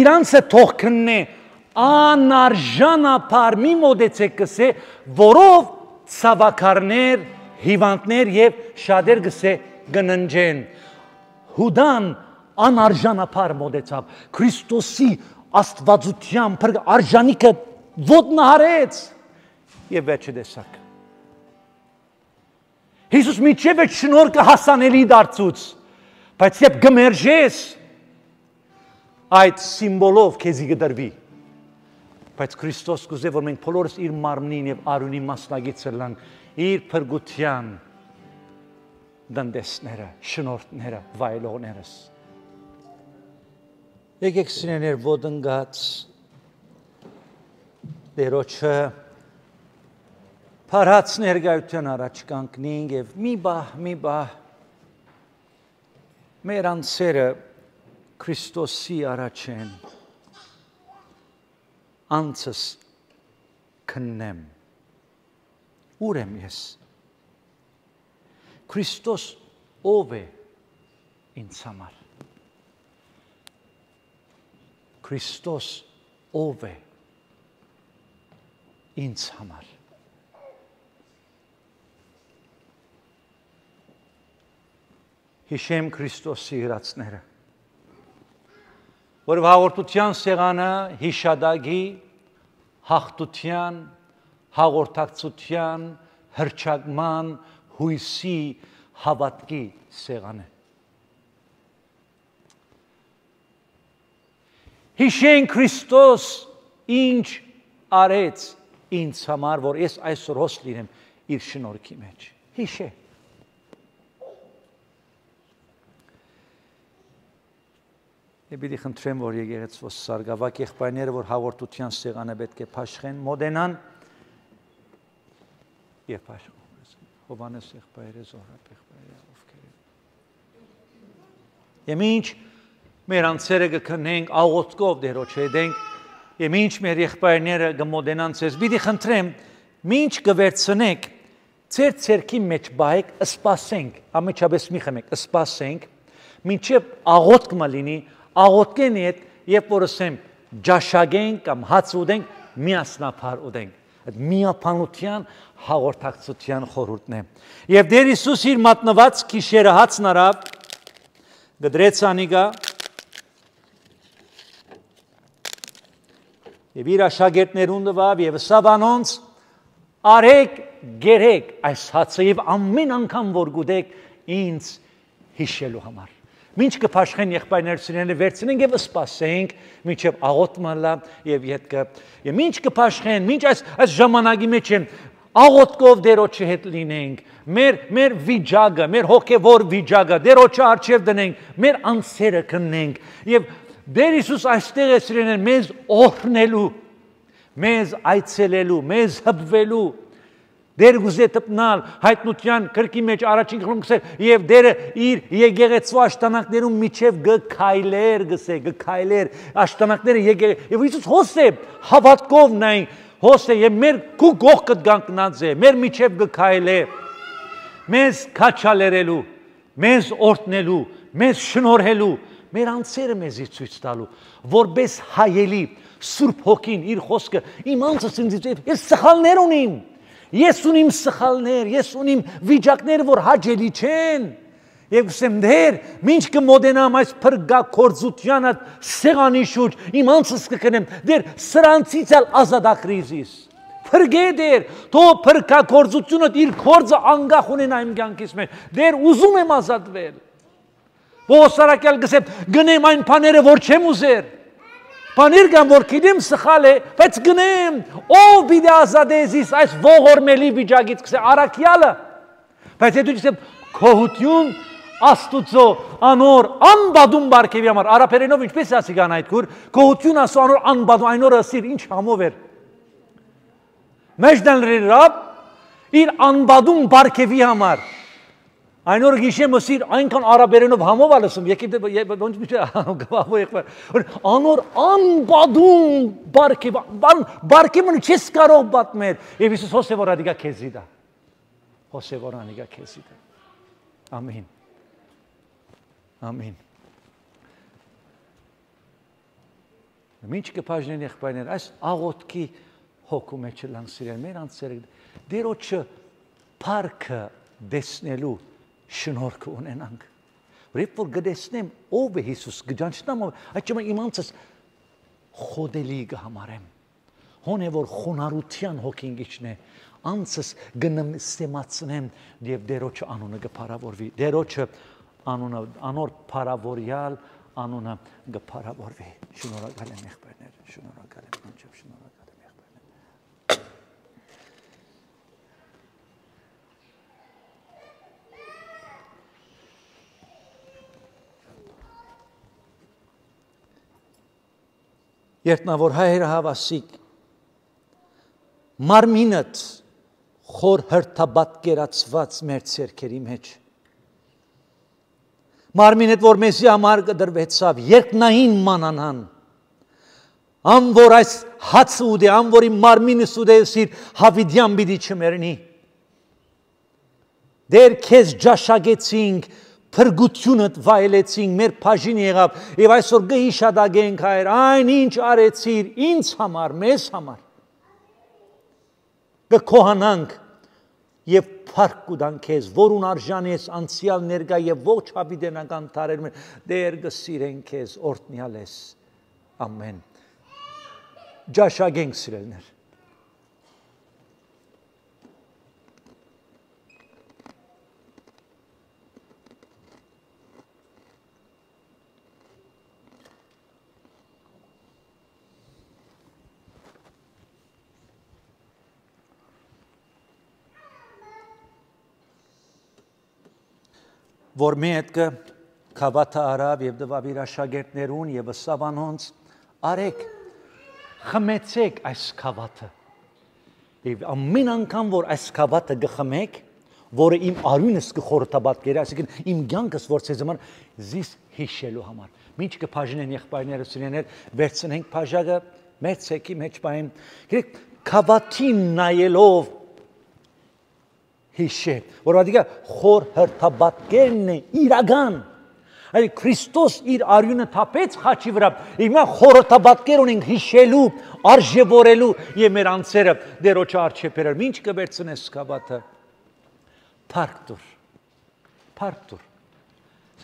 իրանցը թող քննե անարժանապար մի մոդեցեք գսե որով ցավակարներ, հիվանդներ եւ շատեր գսե գննջեն։ Հուդան անարժանապար մոդեցավ Քրիստոսի աստվածության արժանիքը ոտնահարեց եւ վերջը տեսակ Հիսուս միջև է շնորհքը հասանելի դարձուց բայց երբ գմերժես այդ սիմվոլով քեզի գդրվի բայց Քրիստոս կուզե որ մենք բոլորս իր մարմնին եւ արունի մասնագիտ ցլանք իր փրկության դանդեսները շնորհները վայելողներս Եկեք սիրեներ ոդնգած դերոջը փարած ներկայության առաջ կանգնենք եւ մի բահ մի բահ մեր անձերը Քրիստոսի առաջ են անցս քննեմ ուր եմ ես Քրիստոս ով է ինձ համար Քրիստոս ով է ինձ համար Հիշեմ Քրիստոսի հրացները որ հաղորդության սեղանը հիշադակի հաղթության հաղորդակցության հրճակման հույսի հավատքի սեղանը Հիշեն Քրիստոս ինչ արեց ինձ համար, որ ես այսօր հոս լինեմ իր շնորհքի մեջ։ Հիշե։ Եվ պիտի խնդրեմ, որ եկեղեցու սարգսակ եղբայրները, որ հաղորդության սեղանը պետք է փաշխեն, մոդենան եւ փաշխեն։ Հովանես եղբայրը, Զոհրաբ եղբայրը, ովքեր։ Եվ ինչ մեր անձերը կքնենք աղոթքով դերոջ հետենք եւ ինչ մեր եղբայրները կմոդենան ցեզ պիտի խնդրեմ ինչ կվերցնեք ծեր ցերքի մեջ բայեք սպասենք ամեջապես մի խմեք սպասենք մինչեւ աղոթք մը լինի աղոթքեն հետ երբ որ ասեմ ջաշագենք կամ հաց ուտենք միասնապար ուտենք այդ միապանության հաղորդակցության խորհուրդն է եւ Տեր Հիսուս իր մատնված քիշերը հացն արավ գդրեց անիգա Եվ իր աշակերտներուն տվավ եւ սավանոնց արեք գերեք այս հացը եւ ամեն անգամ որ գուտեք ինձ հիշելու համար Մինչ կփաշխեն եղբայրներցիները վերցնենք եւ սպասենք մինչեւ աղոթմալա եւ յետքը եւ մինչ կփաշխեն մինչ այս այս ժամանակի մեջ են աղոթքով դերոջի հետ լինենք մեր մեր վիճակը մեր հոգեվոր վիճակը դերոջի արժեվ դնենք մեր անձերը քննենք եւ Դեր Հիսուս այստեղ է սիրեներ մեզ օրհնելու, մեզ այցելելու, մեզ հպվելու, դեր գուզե տպնալ, հայտնության կրկի մեջ առաջին խլում գսել և դերը իր եկեղեցու աշտանակներում միջև գքայլեր գսե, գքայլեր, աշտանակները եկեղեցու, և Հիսուս հոս է հավատքով նային, հոս է և մեր կու գողքըտ գանքնած է, մեր միջև գքայլեր, մեզ կաչալերելու, մեզ օրհնելու, մեզ շնորհելու, մեր անձերը մեզի ցույց տալու, որպես հայելի Սուրբ Հոգին իր խոսքը իմ անձս ինձ ես սխալներ ունիմ, Ես ունիմ սխալներ, ես ունիմ վիճակներ, որ հաճելի չեն։ Եվ ասեմ դեր, ինչ կմոտենամ այս փրկագործությանը սեղանի շուրջ, իմ անձս կքնեմ, դեր սրանցից էլ ազատագրիզիս։ Փրկե դեր, թո փրկագործությունը իր գործը անգախ ունենա իմ կյանքից մեջ։ Դեր ուզում եմ ազատվել։ Ոսարակյալ գսեմ, գնեմ այն բաները, որ չեմ ուզեր։ Բաներ կան, որ գիտեմ սխալ է, բայց գնեմ, ով պիտի ազատես իս այս ողորմելի վիճակից, կսե առաքյալը։ Բայց հետո գսեմ, քոհություն Աստուծո անոր անբադում բարգեւի համար արաբերենով ինչպես ասի կան այդ քուր քոհություն ասո անոր անբադում այն օրը ասիր ինչ համով էր մեջդան ռապ իր անբադում բարգեւի համար այն օրը գիշեմ ասիր այնքան արաբերենով համով ալսում եկեք ոնց մի գավո եղբայր անոր անբադում բարգեվ բարգևը չես կարող պատմել եւ Հիսուս հոսեվոր ադիգա քեզիդա հոսեվոր անիգա քեզիդա ամեն Ամեն։ Ինչ կպաժնեն եղբայրներ, այս աղոտքի հոգու մեջ լան սիրել, մեր անձերը, դերոչը պարքը դեսնելու շնորհքը ունենանք։ Որև որ գտեսնեմ ով է Հիսուս, գճանչնամ ով, այդ չմա իմ անձս խոդելի կհամարեմ։ Հոն է որ խոնարհության հոգին գիչն է, անձս գնստեմացնեմ եւ դերոչը անունը կփարավորվի, դերոչը Անունը անոր փարավորյալ անունը գփարավորվի շնորհակալ եմ եղբայրներ շնորհակալ եմ անջավ շնորհակալ եմ եղբայրներ Երտնավոր հայերը հավասիկ մարմինդ խոր հրթաբատկերացված մեր ցերքերի մեջ Մարմինդ, որ մեզի համար կդրվեցավ, երկնային մանանան, ամ որ այս հացը ուդե, ամ որ իմ մարմինս ուդե սիր հավիդյան բիդի չմերնի, դեր կեզ ճաշագեցինք, փրկությունդ վայելեցինք, մեր փաժին եղավ, և այսօր գհիշադագենք հայր, այն ինչ արեցիր, ինձ համար, մեզ համար, կքոհանանք, և փառք կուտանք քեզ, որուն արժան ես անցյալ ներկա եւ ողջ հավիտենական տարերում դեր կսիրենք քեզ օրհնյալ ես ամեն ջաշագենք սիրելներ որ մետքը կավաթը արավ և դվավ իր աշագերտներուն և սավանոնց արեք, խմեցեք այս կավաթը և ամեն անգամ, որ այս կավաթը գխմեք, որը իմ արյունս կխորհրդաբատ կերի, այսինքն իմ կյանքս որ ցեզ համար զիս հիշելու համար։ Մինչ կփաժնեն եղբայրները սիրեներ, վերցնենք փաժակը մեր ցեկի մեջ բային։ Գիտեք, կավաթին նայելով հիշե, որ ադիգա խոր հրթաբատկերն է իրական, այլ Քրիստոս իր արյունը թապեց խաչի վրա, հիմա խորհրդաբատկեր ունենք հիշելու, արժևորելու և մեր անձերը դերոջը արջեպերել, ինչ կվերցնես կավաթը, փառք տուր, փառք տուր,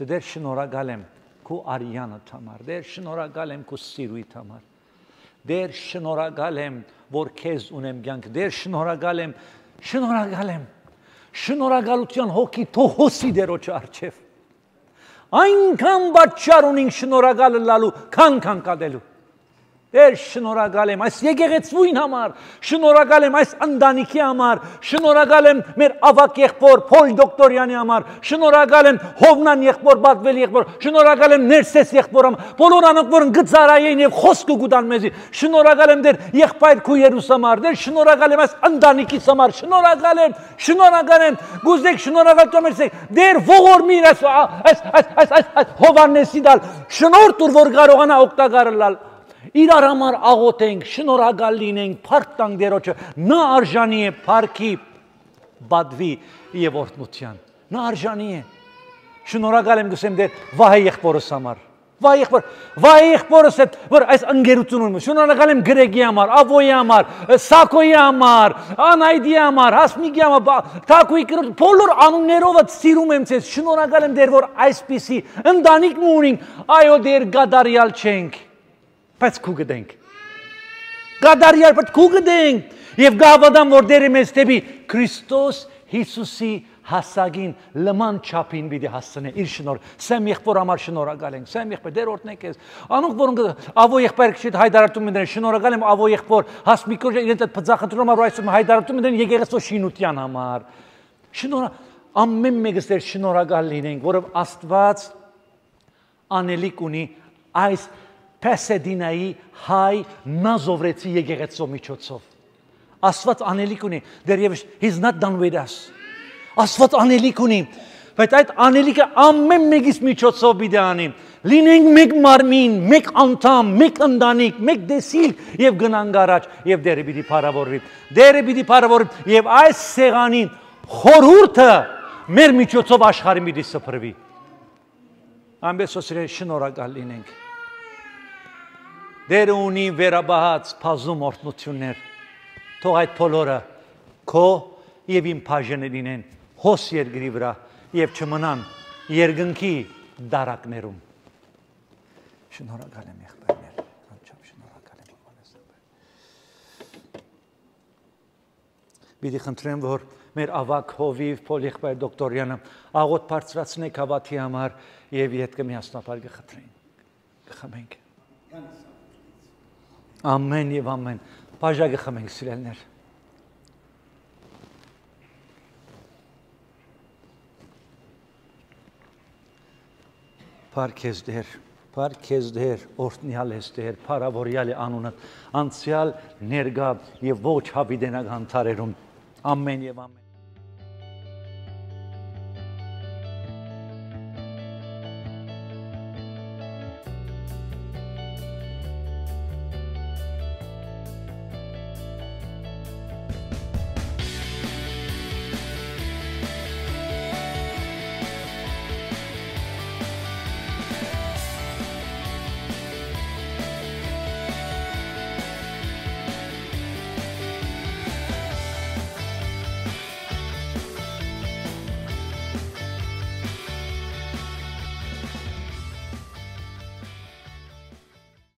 դեր շնորհակալ եմ քո արյանդ համար, դեր շնորհակալ եմ քո սիրույթ համար, դեր շնորհակալ եմ, որ քեզ ունեմ կյանք, դեր շնորհակալ եմ, շնորհակալ եմ Շնորհակալության հոգի թող հոսի դերոջը առջև։ Այնքան պատճառ ունենք շնորհակալ լալու, քան քան կադելու։ Դեր շնորհակալ եմ այս եկեղեցվույն համար, շնորհակալ եմ այս ընտանիքի համար, շնորհակալ եմ մեր ավակ եղբոր Փոլ Դոկտորյանի համար, շնորհակալ եմ Հովնան եղբոր Բատվել եղբոր, շնորհակալ եմ Ներսես եղբոր համար, բոլոր անոնք որ գծարային եւ խոսքը գուտան մեզի, շնորհակալ եմ դեր եղբայր քու Երուսաղեմ համար, դեր շնորհակալ եմ այս ընտանիքիս համար, շնորհակալ եմ, շնորհակալ եմ, գուզեք շնորհակալ եք, դեր ողորմիր այս այս այս այս Հովանեսի դալ, շնորհ տուր որ կարողանա օգտակար լալ Իրար համար աղոթենք, շնորհակալ լինենք, փառք տանք դերոջը, նա արժանի է փառքի, բադվի եւ օրհնության։ Նա արժանի է։ Շնորհակալ եմ գսեմ դեր Վահե եղբորս համար, Վայ եղբոր, վայ եղբորս հետ, որ այս ընկերություն ունեմ, շնորհակալ եմ Գրեգի համար, Ավոյի համար, Սակոյի համար, Անայդի համար, Հասմիկի համար, Թակուի կրոջ, բոլոր անուններով սիրում եմ ձեզ, շնորհակալ եմ դեր, որ այսպիսի ընտանիք ունենք, այո դեր գադարյալ չենք, բայց քու գտենք, գադարյալ բայց քու գտենք, եւ գավադամ, որ դերը մեզ դեպի Քրիստոս Հիսուսի հասագին լման չափին պիտի հասցնե իր շնոր սեմ եղբոր համար շնորհակալ ենք սեմ եղբոր դեր օրհնեք ես անոնք որոնք ավո եղբայր քիչ հայտարարում են շնորհակալ եմ ավո եղբոր հասմիկոր իրենց այդ բծախնդրում առ այսօր հայտարարում են եկեղեցու շինության համար շնորհ ամեն մեկս դեր շնորհակալ լինենք որով Աստված անելիք ունի այս Պեսեդինայի հայ նազովրեցի եկեղեցու միջոցով Աստված անելիք ունի դեռևս he's not done with us Աստված անելիք ունի, բայց այդ անելիքը ամեն մեկից միջոցով պիտի անի։ Լինենք մեկ մարմին, մեկ անդամ, մեկ ընտանիք, մեկ դեսիլ եւ գնանք առաջ եւ դերը պիտի փառավորվի։ Դերը պիտի փառավորվի եւ այս սեղանի խորհուրդը մեր միջոցով աշխարհին պիտի սփռվի։ Ամենից սիրելի շնորհակալ լինենք։ Դերը ունի վերաբահած բազում օրհնություններ։ Թող այդ բոլորը քո եւ իմ բաժինը լինեն հոս երկրի վրա եւ չմնան երկնքի դարակներում շնորհակալ եմ եղբայրներ անչափ շնորհակալ եմ Բիդի խնդրեմ որ մեր ավակ հովիվ Պոլ եղբայր դոկտորյանը աղոտ բարձրացնեք հավատի համար եւ յետքը միասնապար կխնդրենք կխմենք ամեն եւ ամեն բաժա կխմենք սիրելներ Պարքեզ դեր, պարքեզ դեր, օրտնյալ ես դեր, պարավորյալ է անունդ, անցյալ ներգա և ոչ հավիդենակ հանթարերում, ամեն և ամեն։